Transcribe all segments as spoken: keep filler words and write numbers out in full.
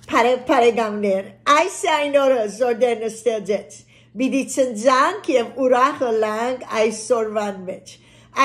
Բարեւ բարեկամներ, այս է այն օրը, որ Տէրն ստեղծեց։ Պիտի ցնծանք եւ ուրախ ըլլանք այսօրուան մէջ։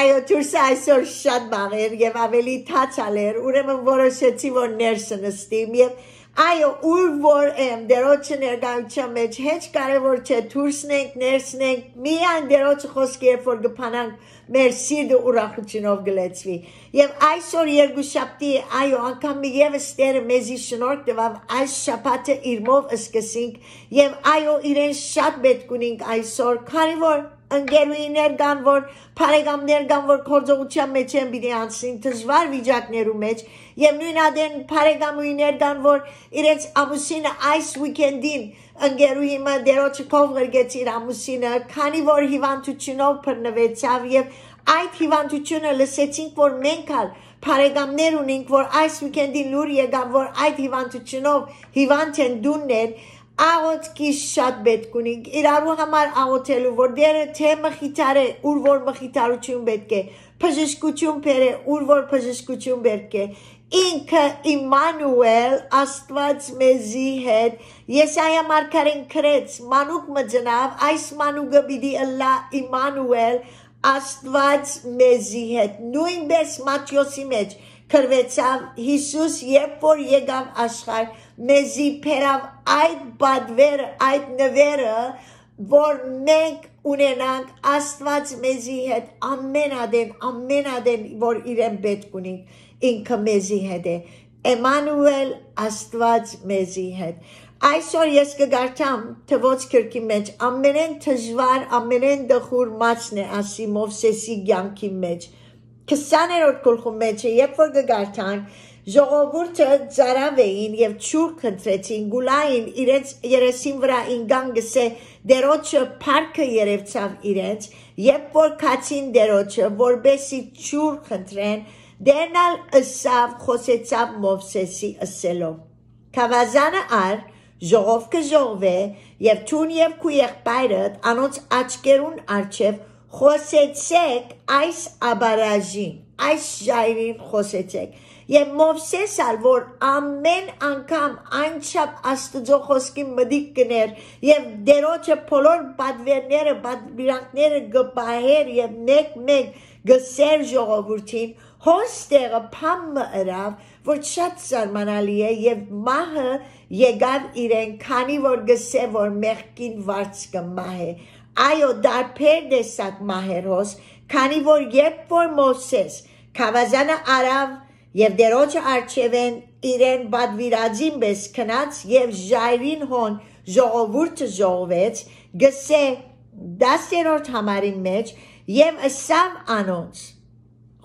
Այո, դուրսը այսօր շատ մաղ էր եւ աւելի թաց ալ էր, ուրեմն որոշեցի, որ ներս նստիմ եւ, այո, ուր որ եմ, Տէրոջը ներկայութեան մէջ, հեչ կարեւոր չէ, դուրսն ենք, ներսն ենք, միայն Տէրոջը խօսքը, երբ որ կփանանք, մեր սիրտը ուրախութիւնով կը լեցուի։ Եւ այսօր երկուշաբթի է, այո, անգամ մի ևս Տէրը մեզի շնորհք տուաւ այս շաբաթը իրմով սկսենք, եւ այո, իրեն շատ պէտք ունենք այսօր, քանի որ ընկերուհիներ կան, որ բարեկամներ կան, որ գործողութեան մէջ են, պիտի անցնին դժուար վիճակներու մէջ, եւ նոյն ատեն բարեկամուհիներ կան, որ իրենց ամուսինը այս weekend-ին ընկերուհի մը Տէրոջը քով ղրկեց իր ամուսինը, քանի որ հիւանդութիւնով բռնուեցաւ, եւ այդ հիւանդութիւնը լսեցինք, որ մենք ալ բարեկամներ ունենք, որ այս weekend-ին լուր եկաւ, որ այդ հիւանդութիւնով հիւանդ են, դունն են, աղօթքի շատ պէտք ունենք իրարու համար աղօթելու, որ Տէրը թէ մխիթարէ, ուր որ մխիթարութիւն պէտք է, բժշկութիւն բերէ, ուր որ բժշկութիւն պէտք է։ Ինքը Իմմանուէլ, Աստուած մեզի հետ։ Եսայա մարգարեն գրեց. «Մանուկ մը ծնաւ, այս մանուկը պիտի ըլլայ Իմմանուէլ, Աստուած մեզի հետ»։ Նոյնպէս Մատթէոսի մէջ գրուեցաւ. «Յիսուս, երբ որ եկաւ աշխարհ, մեզի բերաւ այդ պատվերը, այդ նուերը, որ մենք ունենանք Աստուած մեզի հետ, ամէն ատեն, ամէն ատեն, որ իրեն պէտք ունենք, ինքը մեզի հետ է»։ Էմանուէլ, Աստուած մեզի հետ։ Այսօր ես կը կարդամ Թվոց գրքի մէջ, ամենէն դժուար, ամենէն տխուր մաչն է, ասի, Մովսէսի կեանքի մէջ։ Քսաներորդ գլխու մէջ է, երբ որ կը կարդանք, ժողովուրդը ծարաւ էին եւ ջուր խնդրեցին, գուլային իրենց երեսին վրայ ինկան, գսէ, Տէրոջը փառքը երեւցաւ իրենց, երբ որ գացին Տէրոջը, որպէսի ջուր խնդրեն, Տէրն ալ ըսաւ, խօսեցաւ Մովսէսի ըսելով. «Գաւազանը առ, ժողովքը ժողվէ, եւ դուն եւ քու եղբայրդ անոնց աչքերուն առջեւ խօսեցէք այս աբարաժին, այս ժայռին խօսեցէք»։ Եւ Մովսէս ալ, որ ամէն անգամ այնչափ Աստուծոյ խօսքին մտիկ կ'ընէր եւ Տէրոջը բոլոր պատուերները, պատուիրանքները կը պահէր եւ մէկ-մէկ կ'ըսէր ժողովուրդին, հոս տեղը բան մը ըրաւ, որ շատ զարմանալի է, եւ մահը եկաւ իրեն, քանի որ գսէ, որ մեղքին վարձքը մահ է։ Այո, տարբեր տեսակ մահեր հոս, քանի որ երբ որ Մովսէս գաւազանը առաւ եւ Տէրոջը առջեւէն իրեն պատուիրածին պէս գնաց եւ ժայռին հոն ժողովուրդը ժողվեց, գսէ, դասերորդ համարին մէջ, եւ ըսաւ անոնց.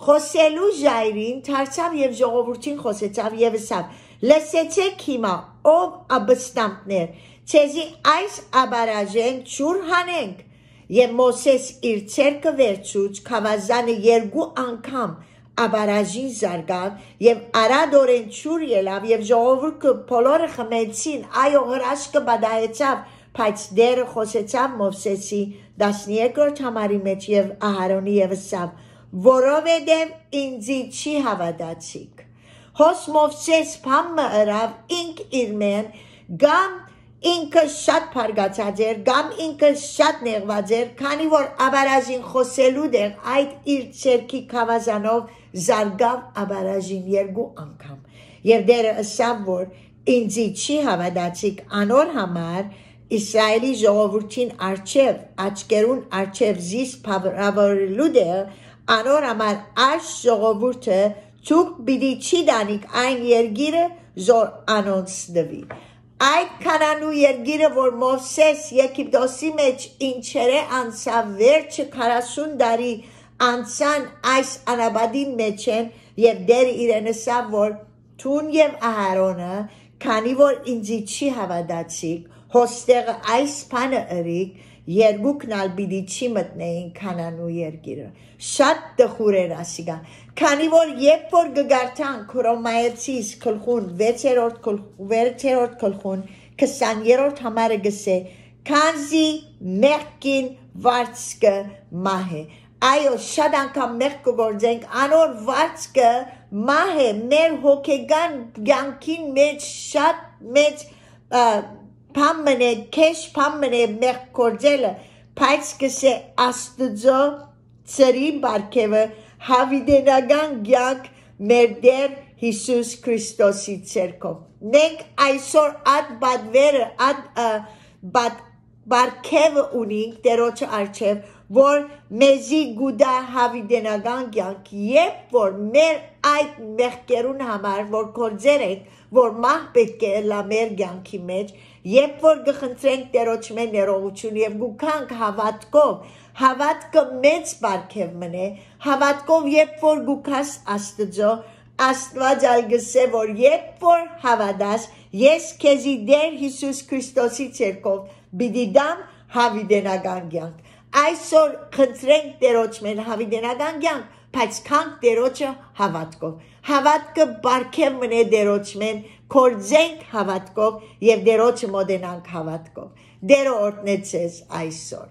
խօսելու ժայռին դարձաւ եւ ժողովուրդին խօսեցաւ եւ ըսաւ. «Լսեցէք հիմա, ով ապստամբներ, ձեզի այս աբարաժէն ջուր հանենք»։ Եւ Մովսէս իր ձեռքը վերցուց, գաւազանը երկու անգամ աբարաժին զարկաւ եւ արատորեն ջուր ելաւ եւ ժողովուրդը բոլորը խմեցին, այո, հրաշքը պատահեցաւ, բայց Տէրը խօսեցաւ Մովսէսի տասներկրորդ համարի մէջ եւ Ահարոնի եւ ըսաւ. «Որովհետեւ ինծի չի հաւատացիք»։ Հոս Մովսէս բան մը ըրաւ ինք իրմէն, կամ ինքը շատ բարկացած էր, կամ ինքը շատ նեղուած էր, քանի որ աբարաժին խօսելու տեղ այդ իր ձեռքի գաւազանով զարկաւ աբարաժին երկու անգամ։ Եւ Տէրը ըսաւ, որ ինծի չի հաւատացիք, անոր համար Իսրայէլի ժողովուրդին առջեւ, աչքերուն առջեւ զիս բաւարարելու տեղ, անոր համար այս ժողովուրդը դուք պիտի չի տանիք այն երկիրը, որ անոնց տուի։ Այդ Քանանու երկիրը, որ Մովսէս Եգիպտոսի մէջ ինչերէ անցաւ, վերջը քառասուն տարի անցան այս անապատին մէջ են, եւ Տէրը իրեն ըսաւ, որ դուն եւ Ահարոնը, քանի որ ինծի չի հաւատացիք, հոստեղը այս բանը ըրիք, երկուքն ալ պիտի չի մտնեին Քանանու երկիրը։ Շատ տխուր էր ասիկա, քանի որ երբ որ կը կարդանք Հռոմայեցիս գլխուն վեցերորդ գլխ-, վեցերորդ գլխուն քսաներորդ համարը գսէ. «Քանզի մեղքին վարձքը մահ է»։ Այո, շատ անգամ մեղք կը գործենք, անոր վարձքը մահ է, մեր հոգեկան կեանքին մէջ շատ մէջ, ը, բան մնե, քեշ բան մնե մեղք գործելը, բայց կսէ Աստուծոյ ծրի պարգեւը, յաւիտենական կեանք մեր Տէր Յիսուս Քրիստոսի ձեռքով։ Մենք այսօր այդ պատվերը, այդ, ը, պատ-, պարգեւը ունինք Տերոջը առջեւ, որ մեզի կու տայ յաւիտենական կեանք, երբ որ մեր այդ մեղքերուն համար, որ գործեր ենք, որ մահ պէտք է ըլլայ մեր կեանքի մէջ, երբ որ կը խնդրենք Տերոջմէ ներողութիւն եւ կու գանք հաւատքով, հաւատքը մեծ պարգեւ մնե, հաւատքով երբ որ կու գաս Աստուծոյ, Աստուած ալ կ'ըսէ որ երբ որ հաւատաս, ես քեզի Տէր Յիսուս Քրիստոսի ձեռքով պիտի տամ յաւիտենական կեանք։ Այսօր խնդրենք Տերոջմէն յաւիտենական կեանք, բայց գանք Տերոջը հաւատքով։ Հաւատքը պարգեւ մնե Տերոջմէն, գործենք հաւատքով եւ Տերոջը մօտենանք հաւատքով։ Տէրը օրհնե ձեզ այսօր։